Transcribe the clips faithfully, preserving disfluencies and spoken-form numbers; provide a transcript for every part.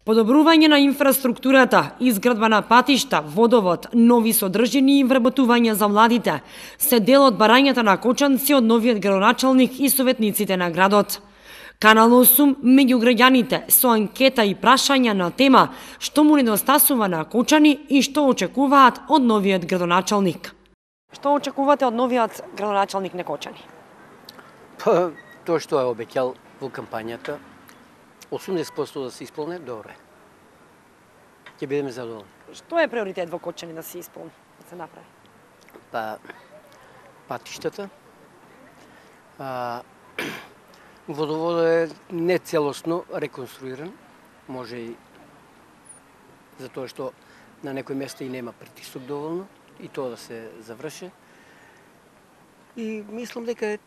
Подобрување на инфраструктурата, изградба на патишта, водовод, нови содржини и вработување за младите се дел од барањата на Кочанци од новиот градоначалник и советниците на градот. Канал осум меѓу граѓаните со анкета и прашања на тема што му недостасува на Кочани и што очекуваат од новиот градоначалник. Што очекувате од новиот градоначалник на Кочани? Па, тоа што е обеќал во кампањата, осумдесет проценти да се исполне, добре. Ќе бидеме задоволни. Што е приоритет во Кочани да се исполни, да се направи? Па, патиштата. А, водоводот е нецелосно реконструиран. Може и затоа што на некои места и нема притисок доволно и тоа да се заврши. И мислам дека е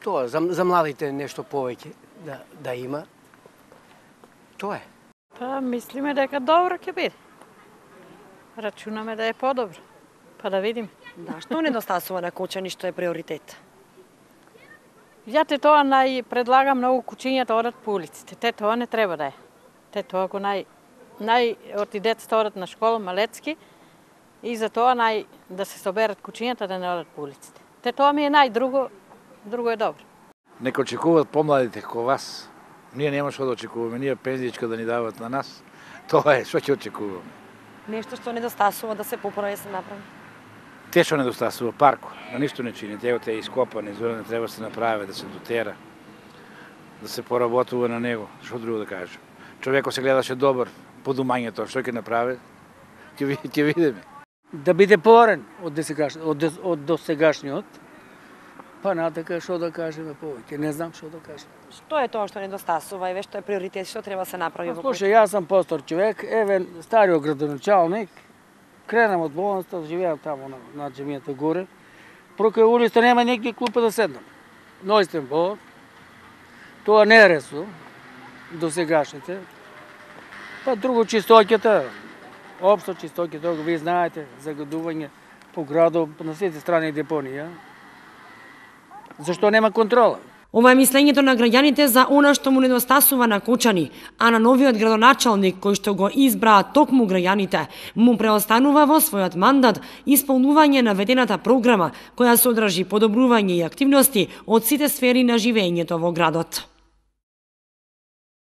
тоа за, за младите нешто повеќе да, да има. Тоа е. Па, мислиме дека добро ќе биде. Рачунаме да е подобро. Па да видим. Да, што недостасува на Кочани, што е приоритет? Ја те тоа нај предлагам многу кучињата одат по улиците. Те тоа не треба да е. Те тоа го нај нај оти децата одат на школа малецки и за тоа нај да се соберат кучињата да не одат по улиците. Те тоа ми е најдруго, друго е добро. Нека очекуваат помладите како вас. Ние нема што да очекуваме, ние пензијачка да ни дават на нас. Тоа е, што ќе очекуваме. Нешто што недостасува да се поправи, да се направи. Те што недостасува парко, на ништо не чини, те е ископани, зелено треба да се направи, да се дотера, да се поработува на него, што друго да кажем. Човекот се гледаше добар, подумањето, што ќе направи, ќе ќе видиме. Да биде порен од од од досегашниот. Па натака што да кажеме повеќе, не знам што да кажем. Што е тоа што недостасува и што е приоритет, што треба да се направи во Кочани? Слушај, јас сум постар човек, еве стариот градоначалник, кренам од болницата, живеам таму на, на џемијата горе. Прока улица нема никакви клупа да седнам. Нојстен бо, тоа не е ресо, досегашните. Па друго чистоќата, општо чистоќата, ви знаете, загадување по градот, на сите страни депонија. Зашто нема контрола? Ова е мислењето на граѓаните за она што му недостасува на Кочани, а на новиот градоначалник кој што го избраа токму граѓаните, му преостанува во својот мандат исполнување на ведената програма која содржи подобрување и активности од сите сфери на живењето во градот.